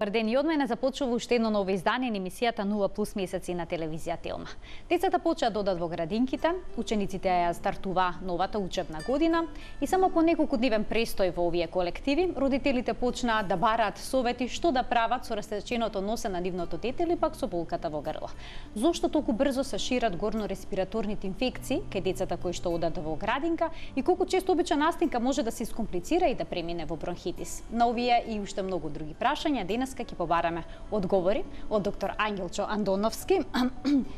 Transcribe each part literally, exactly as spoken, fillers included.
Добар ден и од мене започува уште едно ново издание на емисијата нула плюс месеци на телевизија Телма. Децата почаа да одат во градинките, учениците ја стартува новата учебна година и само по неколку дневен престој во овие колективи, родителите почнаа да бараат совети што да прават со растеченото носе на нивното дете или пак со болката во грло. Зошто толку брзо се шират горно-респираторните инфекции кај децата кои што одат во градинка и колку често обична настинка може да се искомплицира и да премине во бронхитис? На овие и уште многу други прашања денеска ќе побараме одговори од доктор Ангелчо Андоновски,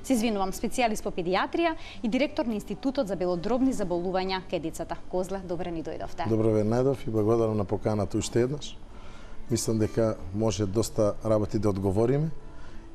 се извинувам, специјалист по педијатрија и директор на Институтот за белодробни заболувања кај децата. Козле, добре ни дојдовте. Добро ве најдов и благодарам на поканата уште еднаш. Мислам дека може доста работи да одговориме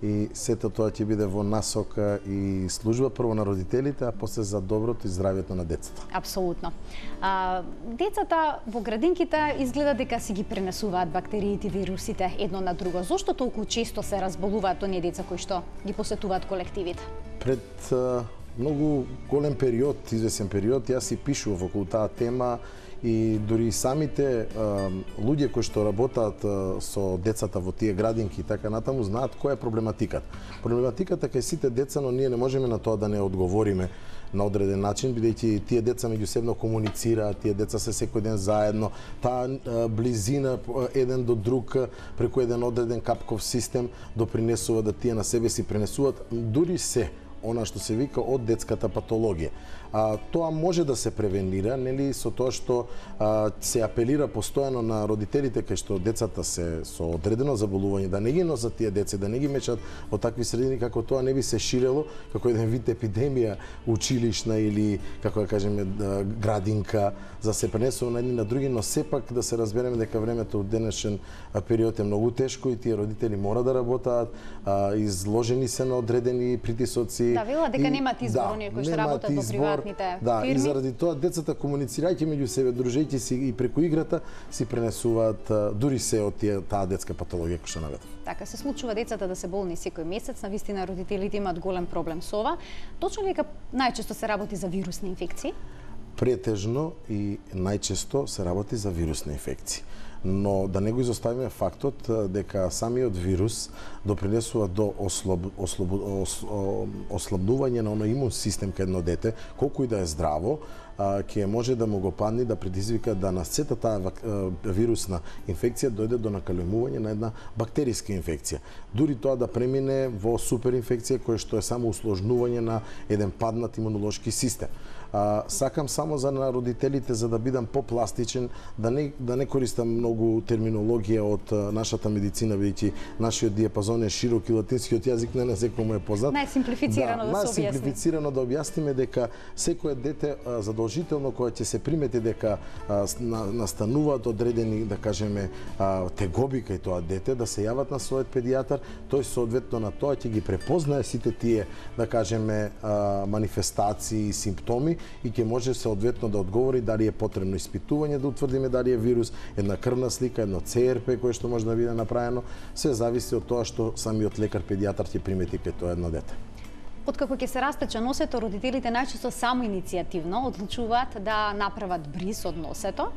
и сето тоа ќе биде во насока и служба прво на родителите, а после за доброто и здравјето на децата. Апсолутно. А, децата во градинките изгледа дека си ги пренесуваат бактериите и вирусите едно на друго. Зошто толку често се разболуваат оние деца кои што ги посетуваат колективите? Пред а, многу голем период, извесен период, јас си пишував околу таа тема и дури самите а, луѓе кои што работаат а, со децата во тие градинки и така натаму знаат која е проблематиката. Проблематиката кај сите деца, но ние не можеме на тоа да не одговориме на одреден начин, бидејќи тие деца меѓусебно комуницираат, тие деца се секој ден заедно, таа а, близина еден до друг преку еден одреден капков систем допринесува да тие на себе си пренесуваат дури се она што се вика од детската патологија. А, тоа може да се превенира, нели, со тоа што а, се апелира постојано на родителите кај што децата се со одредено заболување, да не ги носат тие деца, да не ги мечат во такви средини како тоа не би се ширело како еден вид епидемија училишна или како да кажеме градинка за се пренесува на едни на други, но сепак да се разбереме дека времето од денешен период е многу тешко и тие родители мора да работат, а, изложени се на одредени притисоци. Да, вела дека немаат избор да, оние кои што работат во приватните да, фирми. И заради тоа децата комуницирајќи меѓу себе, дружејќи си и преку играта, си пренесуваат дури се од тие таа детска патологија која што наведов. Така се случува децата да се болни секој месец, навистина родителите имаат голем проблем со ова. Точно ли дека најчесто се работи за вирусни инфекции? Претежно и најчесто се работи за вирусни инфекции. Но да не го изоставиме фактот дека самиот вирус допринесува до ослаб, ослаб, ос, ослабнување на оној имун систем кај едно дете, колку и да е здраво, ќе може да му го падне да предизвика да на сета таа вирусна инфекција дојде до накалемување на една бактериска инфекција. Дури тоа да премине во суперинфекција која што е само усложнување на еден паднат имунолошки систем. А, сакам само за на родителите за да бидам попластичен, да не да не користам многу терминологија од нашата медицина, бидејќи нашиот диапазон е широк и латинскиот јазик не на секој му е познат. Најсимплифицирано да, да се објасни. Најсимплифицирано да објасниме дека секое дете задолжително кое ќе се примети дека а, на, настануваат одредени, да кажеме, а, тегоби кај тоа дете, да се јават на својот педијатар, тој соодветно на тоа ќе ги препознае сите тие, да кажеме, а, манифестации и симптоми и ќе може соодветно да одговори дали е потребно испитување да утврдиме дали е вирус, една крвна слика, едно Це Ер Пе кое што може да биде направено, се зависи од тоа што самиот лекар педијатар ќе примети кај тоа едно дете. Откако ќе се растече носето, родителите најчесто само иницијативно одлучуваат да направат бриз од носето.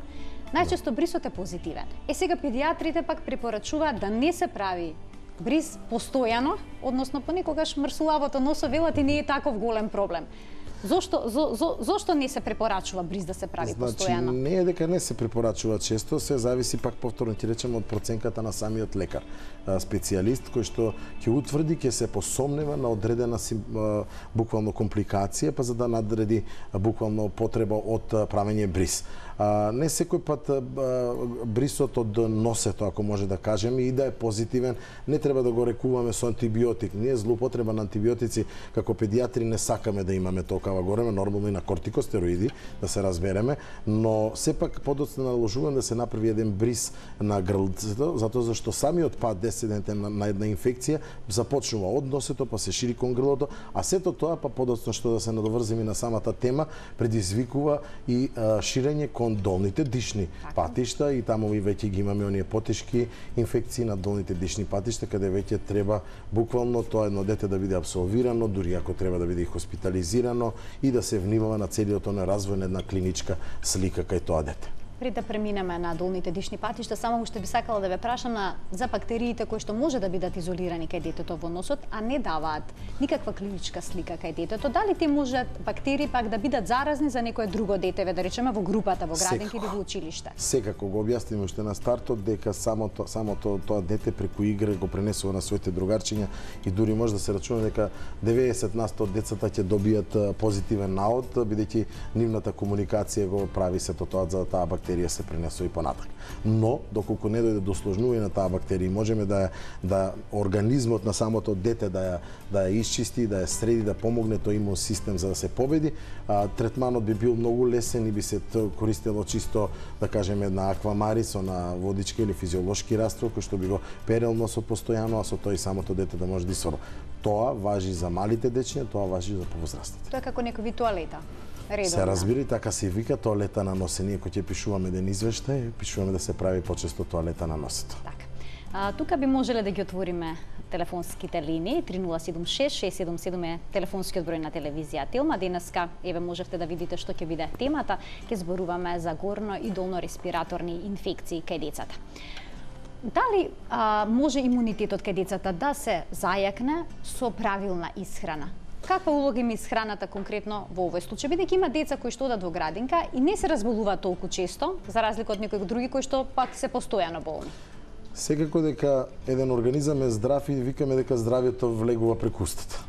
Најчесто брисот е позитивен. Е сега педијатрите пак препорачуваат да не се прави бриз постојано, односно понекогаш мрсулавото носо велат и не е таков голем проблем. Зошто зо, зо, зошто не се препорачува бриз да се прави значи, постојано? Не е дека не се препорачува често, се зависи пак повторно ќе речеме од проценката на самиот лекар, специјалист кој што ќе утврди, ќе се посомнева на одредена буквално компликација, па за да надреди буквално потреба од правење бриз. А, не секој пат а, брисот од носето, ако може да кажеме, и да е позитивен, не треба да го рекуваме со антибиотик. Ние злоупотреба на антибиотици како педијатри не сакаме да имаме толкова гореме, нормално и на кортикостероиди, да се разбереме, но сепак подоцна наложуваме да се направи еден бриз на грлцето, затоа зашто самиот пат десетдневен на, на една инфекција започнува од носето, па се шири кон грлото, а сето тоа, па подоцна што да се надоврзиме на самата тема, предизвикува и а, ширење кон долните дишни патишта и таму и веќе ги имаме оние потешки инфекции на долните дишни патишта, каде веќе треба буквално тоа едно дете да биде абсолвирано, дури ако треба да биде и хоспитализирано и да се внимава на целиот оној развој на една клиничка слика кај тоа дете. Пред да преминеме на долните дишни патишта, само уште би сакала да ве прашам на за бактериите кои што може да бидат изолирани кај детето во носот, а не даваат никаква клиничка слика кај детето. Дали те можат бактерии пак да бидат заразни за некое друго детеве, да речеме во групата, во градинки или во училиште? Секако го објасним уште на стартот дека самото самото тоа дете преку игра го пренесува на своите другарчиња и дури може да се рачуна дека деветдесет на сто од децата ќе добијат позитивен наод, бидејќи нивната комуникација го прави сето тоа за да таа бактерија се пренесува и понатак. Но доколку не дојде до сложнување на таа бактерија, можеме да да организмот на самото дете да ја да ја исчисти, да ја среди, да помогне тој имун систем за да се победи, а, третманот би бил многу лесен и би се користело чисто, да кажеме, една аквамари со на водичка или физиолошки раствор кој што би го перел носот постојано, а со тој самото дете да може да исврла. Тоа важи за малите дечиња, тоа важи за повозрастните. Тоа е како некој вид туалета. Редовна. Се разбира, така се вика тоалета на носе. Ние кога ќе пишуваме еден извештај, пишуваме да се прави почесто тоалета на носето. Така. А, тука би можеле да ги отвориме телефонските линии. три нула седум шест шест седум седум е телефонскиот број на телевизија Телма. Денеска, еве, можевте да видите што ќе биде темата. Ќе зборуваме за горно и долно респираторни инфекции кај децата. Дали а, може имунитетот кај децата да се зајакне со правилна исхрана? Каква улога има исхраната конкретно во овој случај, бидејќи има деца кои што одат во градинка и не се разболуваат толку често, за разлика од некои други кои што пак се постојано болни? Секако дека еден организам е здрав и викаме дека здравјето влегува преку устата.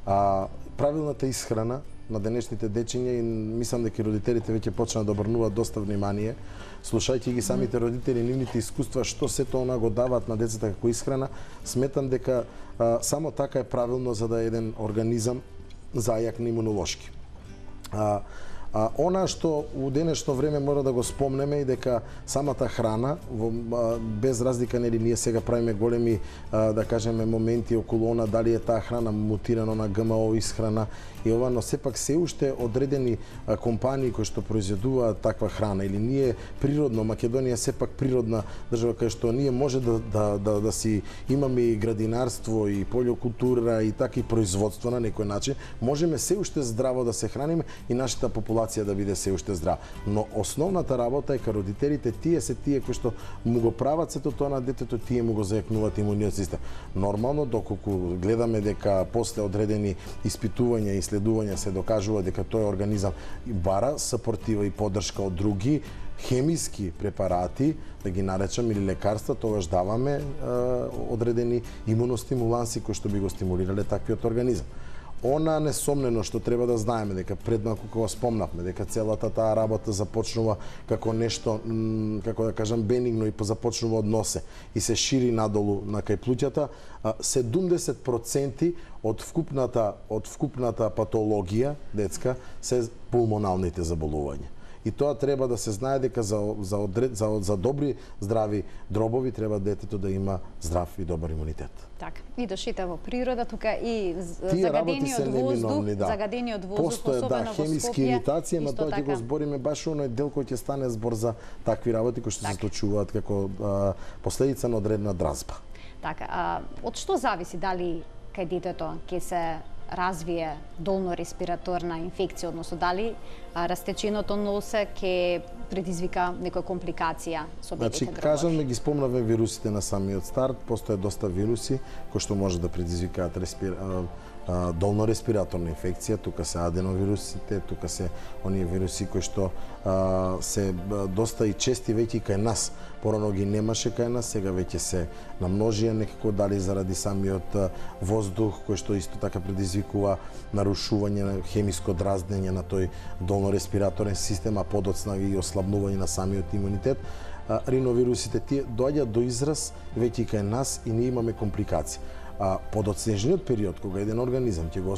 А правилната исхрана на денешните дечиња, и мислам дека родителите веќе почнаа да обрнуваат доста внимание, слушајќи ги самите родители, нивните искуства, што сето она го даваат на децата како исхрана, сметам дека а, само така е правилно за да е еден организам зајакне имунолошки. А, А, она што у денешно време мора да го спомнеме и дека самата храна, во, а, без разлика нели ние сега правиме големи, а, да кажеме, моменти околу она дали е таа храна мутирана на ГМО исхрана и ова, но сепак се уште одредени а, компании кои што произведуваат таква храна или ние природно, Македонија сепак природна држава кај што ние може да, да, да, да си имаме и градинарство и полјокултура и така и производство на некој начин, можеме се уште здраво да се храниме и нашата популација да биде се уште здрава. Но основната работа е кај родителите, тие се тие кои што му го прават сето тоа на детето, тие му го зајакнуваат имуниот систем. Нормално, доколку гледаме дека после одредени испитувања и исследувања се докажува дека тој организам бара сапортива и поддршка од други хемиски препарати, да ги наречам, или лекарства, тогаш даваме е, одредени имуностимуланси кои што би го стимулирале таквиот организам. Она несомнено што треба да знаеме дека пред малку кога спомнавме дека целата таа работа започнува како нешто, како да кажам, бенигно и започнува од носе и се шири надолу на кај плуќата, седумдесет проценти од вкупната од вкупната патологија детска се пулмоналните заболувања. И тоа треба да се знае дека за за одред, за, за добри здрави дробови треба детето да има здрав и добар имунитет. Така. И дошите во природа, тука и Тие загадениот воздух, да. загадениот воздух, Постоја, особено да, во хемиски Скопје, иритација, но тоа ќе така. го збориме баш оној дел кој ќе стане збор за такви работи кои што се случуваат како а, последица на одредена дразба. Така, а, од што зависи дали кај детето ќе се развие долно респираторна инфекција, односно дали а, растеченото носе ќе предизвика некоја компликација со бебите? Значи, кажаме, ги спомнавме вирусите на самиот старт, постоje доста вируси кои што може да предизвикаат респир... долно респираторна инфекција, тука се аденовирусите, тука се оние вируси кои што а, се доста и чести веќе кај нас. Порано ги немаше кај нас, сега веќе се намножија некако, дали заради самиот воздух кој што исто така предизвикува нарушување на хемиско дразнење на тој долно респираторен систем, а подоцна и ослабнување на самиот имунитет. Риновирусите тие доаѓаат до израз веќе кај нас и ние имаме компликации. А подоцнежниот период, кога еден организам ќе го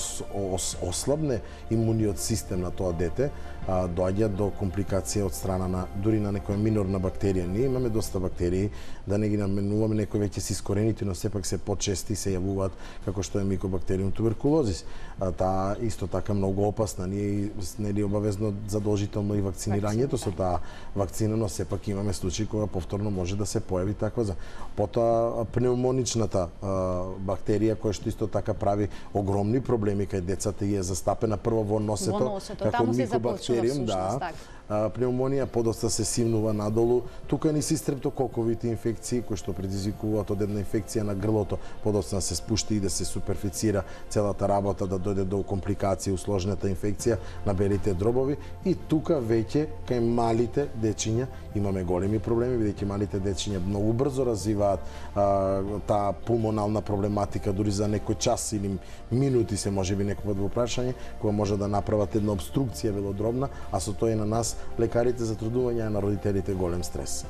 ослабне имуниот систем на тоа дете, а, доаѓа до компликација од страна на дури на некоја минорна бактерија. Ние имаме доста бактерии, да не ги наменуваме, некои веќе се искорените, но сепак се почести се јавуваат како што е микобактериум туберкулозис. А, таа исто така многу опасна. Ние нели обавезно задолжително и вакцинирањето со таа вакцина, но сепак имаме случаи кога повторно може да се појави таква за. Потоа пневмоничната а, бактерија која што исто така прави огромни проблеми кај децата и е застапена прво во носето, во носето. како Таму се микобактериум, започува, да. така. пневмонија, подоцна се симнува надолу. Тука ни се стрептококовите инфекции кои што предизвикуваат од една инфекција на грлото, подоцна се спушти и да се суперфицира целата работа, да дојде до компликации, усложнета инфекција на белите дробови. И тука веќе кај малите дечиња имаме големи проблеми, бидејќи малите дечиња многу брзо развиваат а, таа пулмонална проблематика, дури за некој час или минути се можеби некој во прашање, кога може да направат една обструкција велодробна, а со тоа и на нас, лекарите, затрудување, а на родителите голем стрес.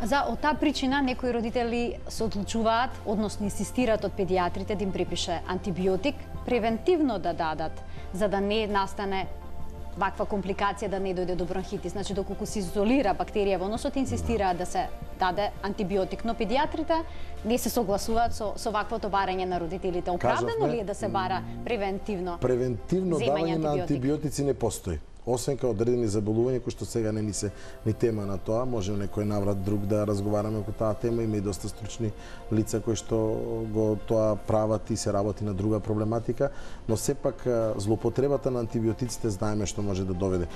За од таа причина некои родители се одлучуваат, односно инсистираат од педиатрите да им припише антибиотик, превентивно да дадат, за да не настане ваква компликација, да не дојде до бронхитис. Значи, доколку се изолира бактерија во носот, инсистираат да се даде антибиотик, но педиатрите не се согласуваат со, со ваквото барање на родителите. Оправдано ли е да се бара превентивно? Превентивно давање на антибиотици не постои. Освен кај одредени заболувања кои што сега не ни се ни тема на тоа, може некој наврат друг да разговараме по таа тема, има и доста стручни лица кои што го тоа прават и се работи на друга проблематика, но сепак злоупотребата на антибиотиците знаеме што може да доведе.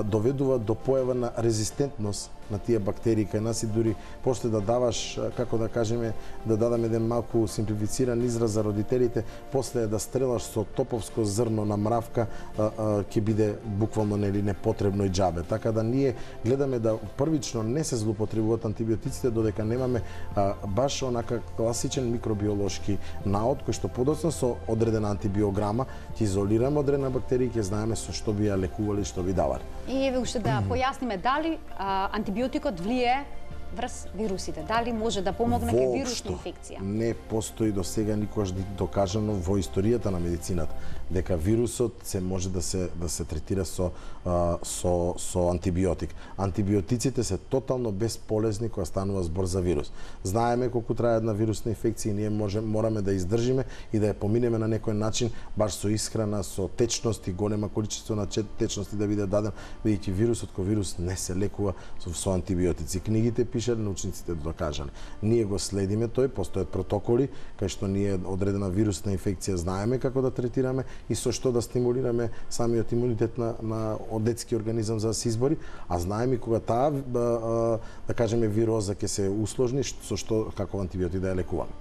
Доведува до појава на резистентност на тие бактерии кај нас и дури после да даваш, како да кажеме, да дадаме еден малку симплифициран израз за родителите, после да стрелаш со топовско зрно на мравка, ќе биде буквално нели непотребно и џабе. Така да ние гледаме да првично не се злоупотребуваат антибиотиците додека немаме а, баш онака класичен микробиолошки наод кој што подоцна со одредена антибиограма ќе изолираме одредена бактерија и ќе знаеме со што би ја лекували, што би давале. И еве уште да појасниме дали а, антибиотикот влие врз вирусите, дали може да помогне кај вирусна инфекција? Не постои до сега никогаш докажано во историјата на медицината дека вирусот се може да се да се третира со а, со со антибиотик. Антибиотиците се тотално бесполезни кога станува збор за вирус. Знаеме колку трае една вирусна инфекција и ние може мораме да издржиме и да ја поминеме на некој начин баш со исхрана, со течност и голема количество на течности да биде даден, бидејќи вирусот кој вирус не се лекува со, со антибиотици. Книгите пишале, научниците докажале. Ние го следиме тој, постојат протоколи кај што ние одредена вирусна инфекција знаеме како да третираме и со што да стимулираме самиот имунитет на, на детски организам за да се избори, а знаеме кога таа да кажеме вироза ќе се усложни, со што како антибиотик да ја лекуваме.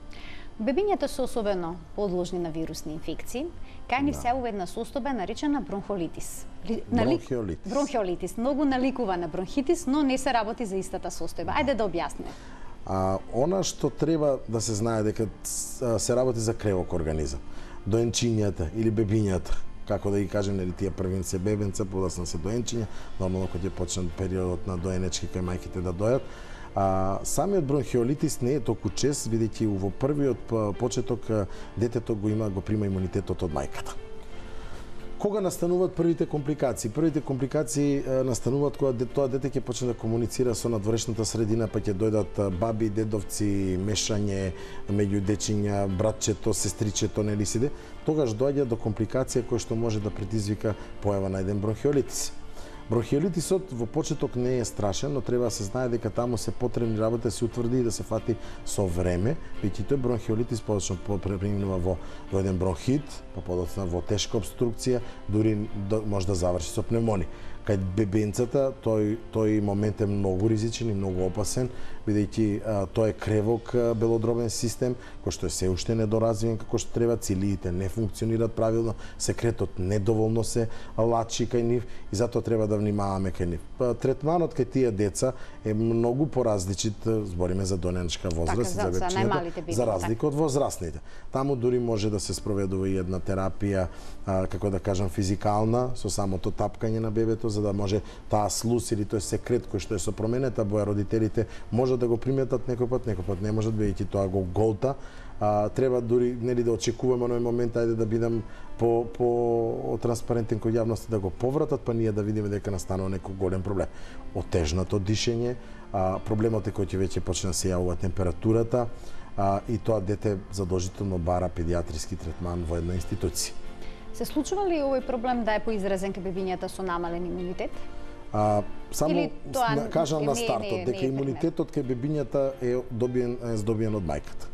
Бебињата се особено подложни на вирусни инфекции. Кај нив се една состојба наречена бронхолитис. Бронхиолитис. Бронхиолитис. Многу наликува на бронхитис, но не се работи за истата состојба. Ајде да објасниме. А, она што треба да се знае дека се работи за кревок организам. Доенчињата или бебињата, како да ги кажем, нели тие првин се бебенца, подоцна се доенчиња, нормално кога ќе почне периодот на доенечки кај мајките да дојат. А, самиот бронхиолитис не е толку чест, бидејќи во првиот почеток детето го има го прима имунитетот од мајката. Кога настануваат првите компликации? Првите компликации настануваат кога тоа дете ќе почне да комуницира со надворешната средина, па ќе дојдат баби, дедовци, мешање меѓу дечиња, братчето, сестричето, нели сиде. Тогаш доаѓа до компликација која што може да предизвика појава на еден бронхиолитис. Бронхиолитисот во почеток не е страшен, но треба да се знае дека таму се потребни работи да се утврди и да се фати со време, бидејќи тој бронхиолитис подоцна преминува во, во еден бронхит, па подоцна во тешка обструкција, дури може да заврши со пневмонија. Кај бебенцата тој тој момент е многу ризичен и многу опасен, бидејќи тој е кревок белодробен систем кој што е се уште недоразвиен како што треба, цилиите не функционираат правилно, секретот недоволно се лачи кај нив и затоа треба да внимаваме кај нив. Третманот кај тие деца е многу поразличит, збориме за доненечка возраст, така, за, за бебчињата, за разлика од возрастните. Таму дури може да се спроведува и една терапија, а, како да кажам, физикална, со самото тапкање на бебето, за да може таа слус или тој секрет кој што е со променета боја, родителите може да го приметат некој пат, некој пат не можат, бидејќи тоа го голта. А, треба дури нели да очекуваме на момент, ајде да бидам по по транспарентен кон јавноста, да го повратат, па ние да видиме дека настанува некој голем проблем. Отежнато дишење, а, проблемот е кој ќе веќе почне да се јавува температурата, а, и тоа дете задолжително бара педиатриски третман во една институција. Се случува ли овој проблем да е поизразен кај бебињата со намален имунитет? А, само тоа кажам на не, стартот не, дека не е имунитетот кај бебињата е добиен е здобиен од мајката.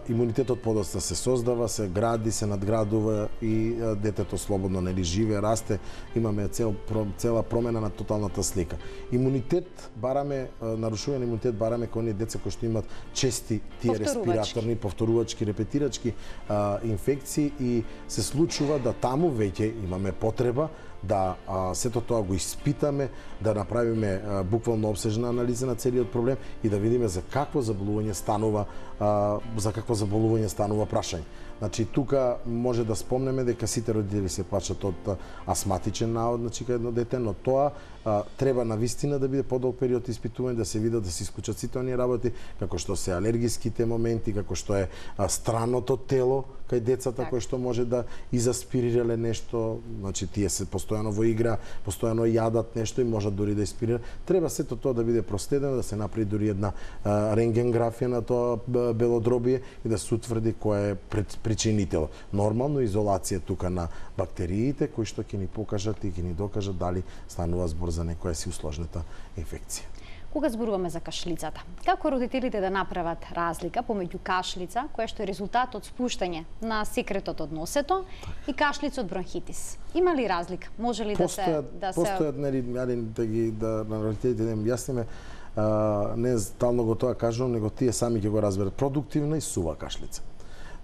имунитетот подоцна се создава, се гради, се надградува и детето слободно нели живее, расте, имаме цел, цела промена на тоталната слика. Имунитет бараме, нарушување на имунитет бараме кон оние деца кои што имаат чести тие респираторни, повторувачки, репетирачки а, инфекции и се случува да таму веќе имаме потреба да а, сето тоа го испитаме, да направиме а, буквално обсежна анализа на целиот проблем и да видиме за какво заболување станува а, за какво заболување станува прашање. Значи тука може да спомнеме дека сите родители се плачат од астматичен наод, значи кај едно дете, но тоа а, треба навистина да биде подолг период испитување, да се видат, да се исклучат сите оние работи, како што се алергиските моменти, како што е а, страното тело кај децата, так. Кој што може да изаспирирале нешто, значи тие се постојано во игра, постојано јадат нешто и можат дури да испирираат. Треба сето тоа да биде проследено, да се направи дури една а, рентгенграфија на тоа белодробие и да се утврди кој е пред причинител. Нормално изолација тука на бактериите кои што ќе ни покажат и ќе ни докажат дали станува збор за некоја си усложнета инфекција. Кога зборуваме за кашлицата, како родителите да направат разлика помеѓу кашлица, која што е резултат од спуштање на секретот од носето, и кашлица од бронхитис? Има ли разлика? Може ли постојат, да се да постојат нели да ги да на родителите да им јасниме, не стално го тоа кажувам, него тие сами ќе го разберат. Продуктивна и сува кашлица.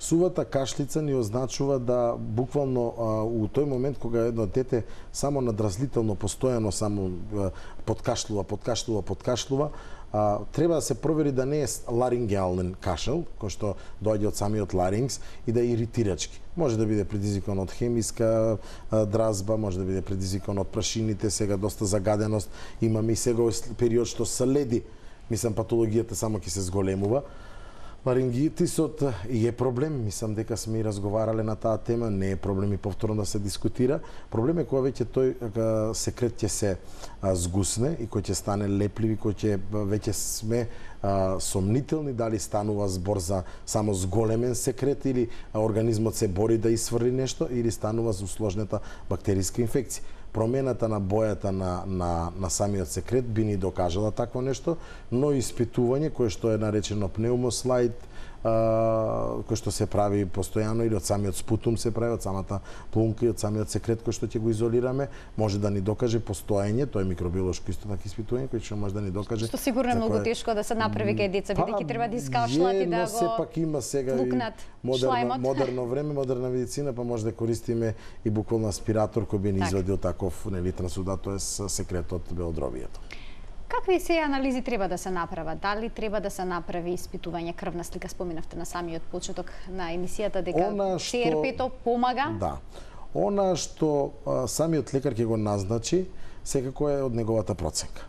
Сувата кашлица ни означува да буквално а, у тој момент кога едно дете само надразлително постојано само а, подкашлува, подкашлува, подкашлува, а, треба да се провери да не е ларингеален кашел, кој што доаѓа од самиот ларингс и да е иритирачки. Може да биде предизвикан од хемиска а, дразба, може да биде предизвикан од прашините, сега доста загаденост имаме и сега период што следи, мислам патологијата само ќе се зголемува. Ларингитисот е проблем, мислам дека сме и разговарале на таа тема, не е проблем и повторно да се дискутира. Проблем е кога веќе тој секрет ќе се згусне и кој ќе стане леплив и кој ќе веќе сме а, сомнителни дали станува збор за само зголемен секрет или организмот се бори да исфрли нешто или станува за усложнета бактериска инфекција. Промената на бојата на, на, на самиот секрет би ни докажала такво нешто, но испитување кое што е наречено пнеумослайд, кој што се прави постојано или од самиот спутум се прави, од самата плунка и од самиот секрет кој што ќе го изолираме, може да ни докаже постоење, тоа е микробиолошко исто така испитување кој што може да ни докаже. Што сигурно е многу кое... тешко да се направи кај деца, бидејќи треба да искашлат и да го сепак има сега и модерно, модерно време, модерна медицина, па може да користиме и буквално аспиратор кој би ни извадил таков нели трансудат, тоа е секретот белодробието. Какви се анализи треба да се направат? Дали треба да се направи испитување крвна слика? Споминавте на самиот почеток на емисијата дека Це Ер пет помага? Да. Она што а, самиот лекар ќе го назначи, секако е од неговата проценка.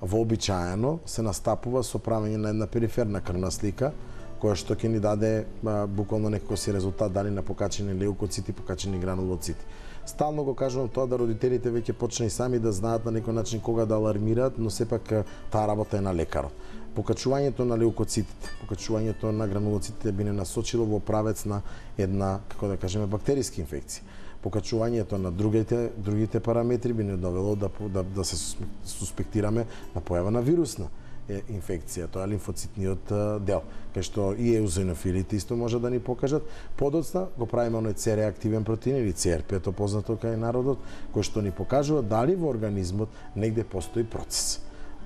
Вообичаено се настапува со правење на една периферна крвна слика, која што ќе ни даде а, буквално некој си резултат дали на покачени леукоцити, покачени гранулоцити. Стално го кажувам тоа да родителите веќе почнаа и сами да знаат на некој начин кога да алармираат, но сепак таа работа е на лекарот. Покачувањето на леукоцитите, покачувањето на гранулоцитите би не насочило во правец на една, како да кажеме, бактериска инфекција. Покачувањето на другите другите параметри би не довело да да, да се суспектираме на појава на вирусна инфекција, тоа е лимфоцитниот дел, кај што и еозинофилите исто може да ни покажат. Подоцна го правиме оној Це реактивен протеин или Це Ер пет познато кај народот, кој што ни покажува дали во организмот негде постои процес.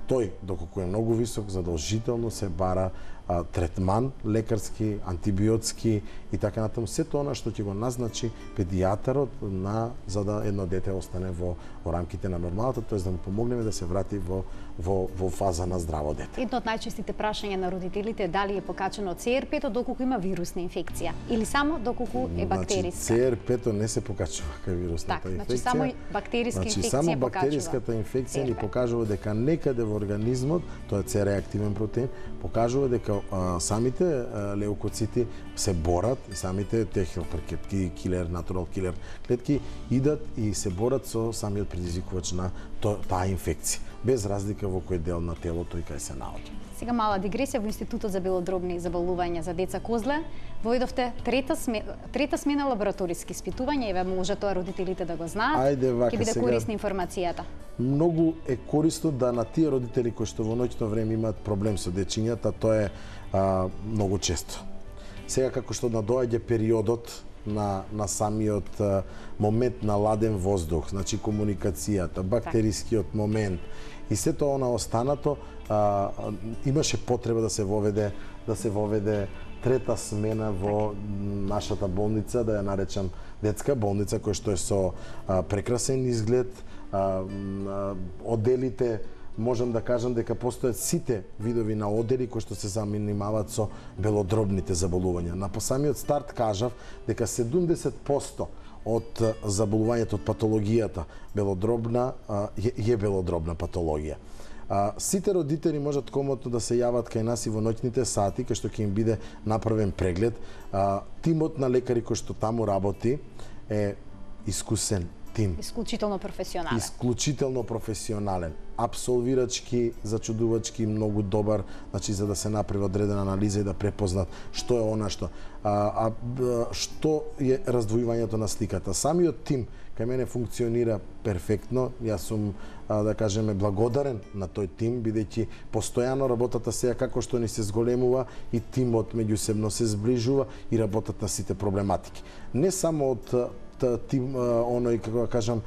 Тој, доколку е многу висок, задолжително се бара а, третман лекарски, антибиотски и така натаму. Сето она што ќе го назначи педијатарот на за да едно дете остане во, во рамките на нормалата, тоест да му помогнеме да се врати во во во фаза на здраво дете. Едно од најчестите прашања на родителите е дали е покачено Це Ер пет доколку има вирусна инфекција или само доколку е бактериска. Значи, Це Ер пет не се покачува кај вирусната так, инфекција. Значи само бактериска значи, инфекција само покачува. бактериската инфекција ни покажува дека некаде во организмот, тоа е Це реактивен протеин, покажува дека а, самите а, леукоцити се борат и самите те хелперкетки, килер, натурал килер клетки идат и се борат со самиот предизвикувач на таа инфекција, без разлика во кој дел на телото и кај се наоѓа. Сега мала дигресија во Институтот за белодробни заболувања за деца Козле. Војдовте трета смена, трета смена лабораториски испитувања, еве може тоа родителите да го знаат. Ајде вака, ќе биде сега, корисна информацијата. Многу е корисно да на тие родители кои што во ноќно време имаат проблем со дечињата, тоа е а, многу често. Сега како што надоаѓа периодот на, на самиот а, момент на ладен воздух, значи комуникацијата, бактерискиот момент и сето она останато, а, имаше потреба да се воведе да се воведе трета смена во нашата болница, да ја наречам детска болница, која што е со а, прекрасен изглед, а, а, оделите, можам да кажам дека постојат сите видови на одели кои што се занимаваат со белодробните заболувања. На самиот старт кажав дека седумдесет проценти од заболувањето, од патологијата белодробна е, е белодробна патологија. А, сите родители можат комотно да се јават кај нас и во ноќните сати, кај што ќе им биде направен преглед. А, тимот на лекари кој што таму работи е искусен тим. Исклучително професионален. Исклучително професионален. Апсолвирачки, зачудувачки, многу добар, значи за да се направи одредена анализа и да препознат што е она што. А, а што е раздвојувањето на сликата. Самиот тим кај мене функционира перфектно. Јас сум, а, да кажеме, благодарен на тој тим, бидејќи постојано работата сега како што ни се зголемува и тимот меѓусебно се зближува и работат на сите проблематики. Не само од тим, оној, како да кажам,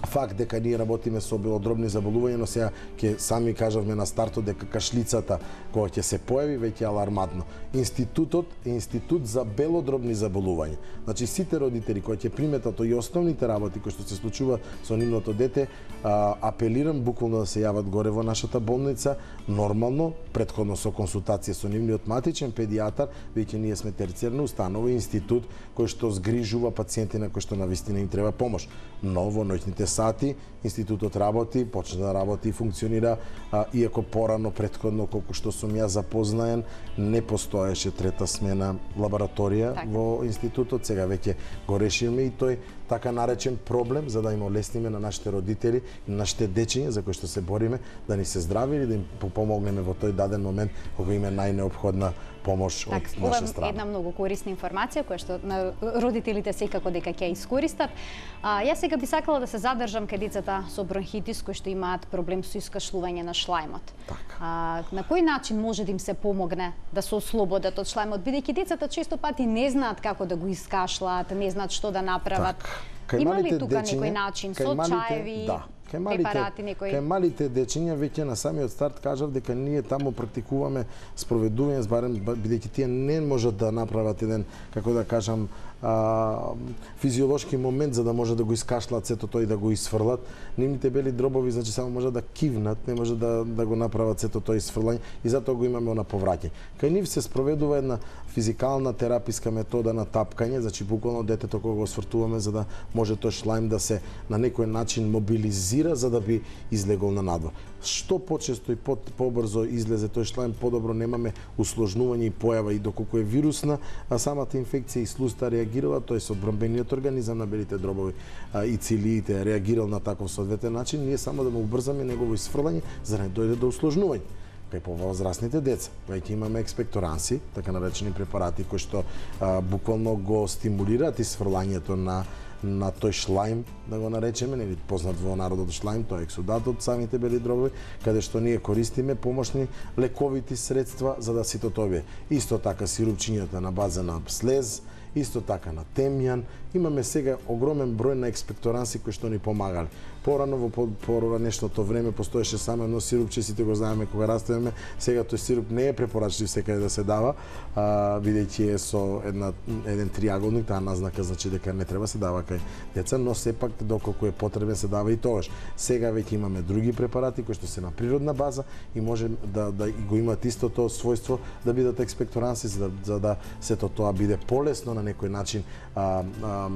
факт дека ние работиме со белодробни заболувања, но сега ќе сами кажавме на стартот дека кашлицата која ќе се појави веќе е алармантно. Институтот е институт за белодробни заболувања. Значи сите родители кои ќе приметат и основните работи кои што се случува со нивното дете, а, апелирам буквално да се јават горе во нашата болница, нормално, претходно со консултација со нивниот матичен педијатар, веќе ние сме терцијарна установа, институт кој што згрижува пациенти на кои што навистина им треба помош. Но во ноќните сати институтот работи, почна да работи и функционира, а, иако порано претходно колку што сум ја запознаен, не постоеше трета смена лабораторија так. Во институтот, сега веќе го решиме и тој така наречен проблем за да им олесниме на нашите родители и на нашите дечиња за кои што се бориме да ни се здрави или да им помогнеме во тој даден момент кога им е најнеопходна помош так, од наша страна. Ова е една многу корисна информација која што на родителите секако дека ќе искористат. А, јас сега би сакала да се задржам кај децата со бронхитис кои што имаат проблем со искашлување на шлајмот. А, на кој начин може да им се помогне да се ослободат од шлајмот, бидејќи децата често пати не знаат како да го искашлаат, не знаат што да направат. Так. Има ли тука некој начин со чаеви? Да. Кај малите, некој... кај малите дечиња веќе на самиот старт кажав дека ние таму практикуваме спроведување, барем бидејќи тие не можат да направат еден, како да кажам, а, физиолошки момент за да може да го искашлат сето тоа и да го исфрлат. Нивните бели дробови значи само може да кивнат, не може да да го направат сето тоа исфрлање и затоа го имаме на повраќање. Кај нив се спроведува една физикална тераписка метода на тапкање, значи буквално детето кога го свртуваме за да може тој шлајм да се на некој начин мобилизира за да би излегол на надвор. Што почесто и по, побрзо излезе тој шлајм, подобро немаме усложнување и појава и доколку е вирусна, а самата инфекција и слуста реагирала, тој со одбранбениот организам на белите дробови а, и цилиите реагирал на таков соодветен начин, ние само да му убрзаме негово исфрлање за да не дојде до усложнување. Кај повозрастните деца, веќе имаме експекторанси, така наречени препарати кои што а, буквално го стимулираат исфрлањето на на тој шлајм, да го наречеме, нели познат во народот шлајм, тоа е ексудат од самите бели дробови, каде што ние користиме помошни лековити средства за да сите тоа бе. Исто така сирупчињата на база на слез, исто така на темјан. Имаме сега огромен број на експекторанси кои што ни помагали. Порано во поранешното време постоеше само едно сирупче, сите го знаеме кога растеме. Сега тој сируп не е препорачлив секаде да се дава, а, бидејќи е со една еден триаголник, таа назнака значи дека не треба се дава кај деца, но сепак доколку е потребен се дава и тогаш. Сега веќе имаме други препарати кои што се на природна база и може да да го имаат истото својство да бидат експекторанси за да, за да сето тоа биде полесно на некој начин а, а,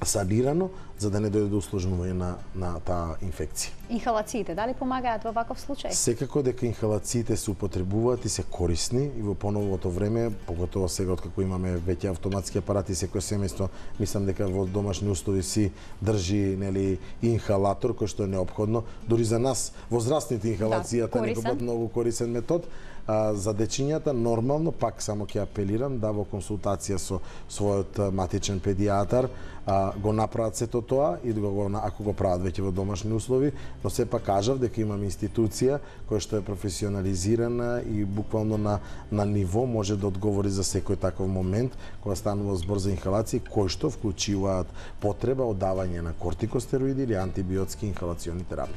санирано, за да не дојде до усложнување на, на таа инфекција. Инхалациите, дали помагаат во ваков случај? Секако дека инхалациите се употребуваат и се корисни и во поновото време, поготово сега откако имаме веќе автоматски апарати, секој семејство, мислам дека во домашни услови си држи нели инхалатор кој што е неопходно, дури за нас возрастните инхалацијата да, некој многу корисен метод. А, за дечињата нормално, пак само ќе апелирам да во консултација со својот матичен педијатар а, го направат сето тоа и да го, ако го прават веќе во домашни услови, но сепак кажав дека имаме институција која што е професионализирана и буквално на на ниво може да одговори за секој таков момент кога станува збор за инхалации кои што вклучуваат потреба од давање на кортикостероиди или антибиотски инхалациони терапии.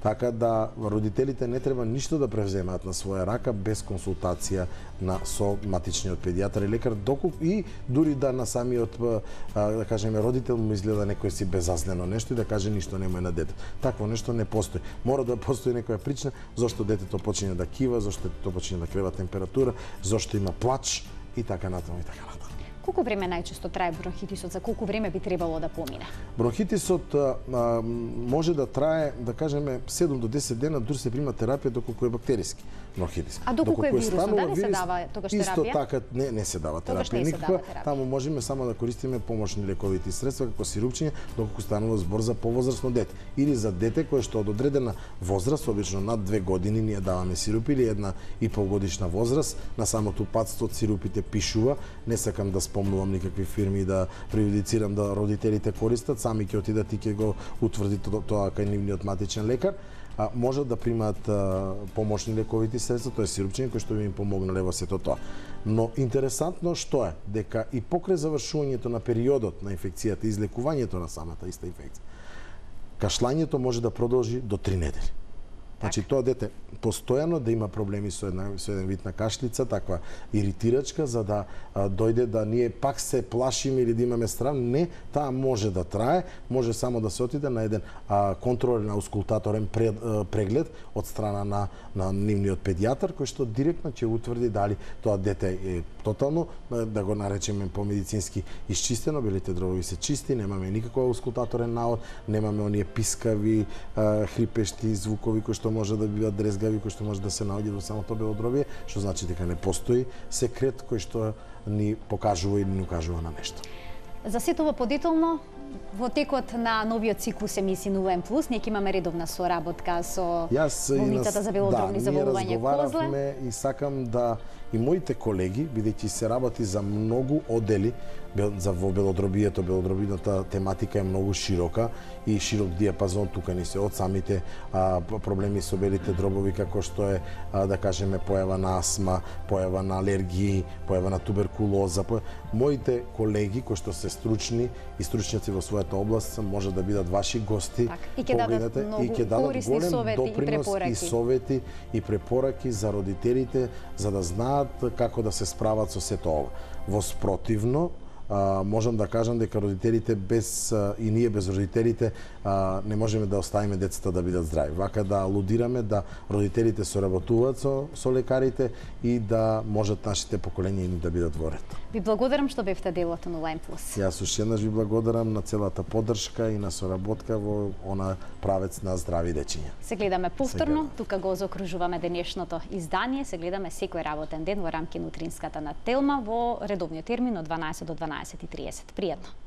Така да родителите не треба ништо да превземаат на своја рака без консултација на со матичниот педијатар и лекар, доколку и дури да на самиот да кажеме родител му изгледа некој си безазлено нешто и да каже ништо немој на детето. Такво нешто не постои. Мора да постои некоја причина зошто детето почине да кива, зошто детето почине да крева температура, зошто има плач и така натаму и така натаму. Колку време најчесто трае бронхитисот? За колку време би требало да помине? Бронхитисот а, може да трае, да кажеме, седум до десет дена, дури се прима терапија доколку е бактериски бронхитис. А доколку е вирусно, да не се дава тогаш терапија? Исто така не не се дава терапија никаква. Таму можеме само да користиме помошни лековити средства како сирупчиња доколку станува збор за повозрасно дете или за дете кое што од одредена возраст, обично над две години, ние даваме сирупи или една и пол годишна возраст. На самото упатство од сирупите пишува, не сакам да спомнувам никакви фирми да преюдицирам да родителите користат, сами ќе отидат и ќе го утврди тоа кај нивниот матичен лекар. А, можат да примаат а, помошни лековити средства, тоа е сирупчиња кои што би им помогнале во сето тоа. Но интересантно што е дека и покрај завршувањето на периодот на инфекцијата и излекувањето на самата иста инфекција, кашлањето може да продолжи до три недели. Значи тоа дете постојано да има проблеми со една со еден вид на кашлица, таква иритирачка, за да а, дојде да ние пак се плашиме или да имаме страв. Не, таа може да трае, може само да се отиде на еден а, контролен аускултаторен пред, а, преглед од страна на на нивниот педијатар кој што директно ќе утврди дали тоа дете е тотално, да го наречеме по медицински исчистено, белите дробови се чисти, немаме никаков аускултаторен наод, немаме оние пискави, а, хрипешти звукови кои што може да бидат дрезгави, кои што може да се наоѓаат во самото белодробие, што значи дека не постои секрет кој што ни покажува или ни укажува на нешто. За сето ова подетално, во текот на новиот циклус емисии нула ен плюс, ние ќе имаме редовна соработка со болницата за белодробни заболувања Козле. И сакам да и моите колеги, бидејќи се работи за многу одели, за во белодробието, белодробината тематика е многу широка и широк диапазон тука ни се од самите а, проблеми со белите дробови како што е а, да кажеме појава на астма, појава на алергии, појава на туберкулоза. По... Моите колеги кои што се стручни и стручњаци во својата област може да бидат ваши гости. Так, и ќе дадат многу и ќе дадат корисни совети и препораки. И совети и препораки за родителите за да знаат како да се справат со сето ова. Во спротивно, а, можам да кажам дека родителите без а, и ние без родителите а, не можеме да оставиме децата да бидат здрави. Вака да алудираме да родителите соработуваат со, со лекарите и да можат нашите поколенија и да бидат во ред. Ви благодарам што бевте дел од нула ен плюс. Јас уште еднаш ви благодарам на целата поддршка и на соработка во она правец на здрави дечиња. Се гледаме повторно, тука го заокружуваме денешното издание, се гледаме секој работен ден во рамки на утринската на Телма во редовниот термин од дванаесет до дванаесет и тридесет. Пријатно.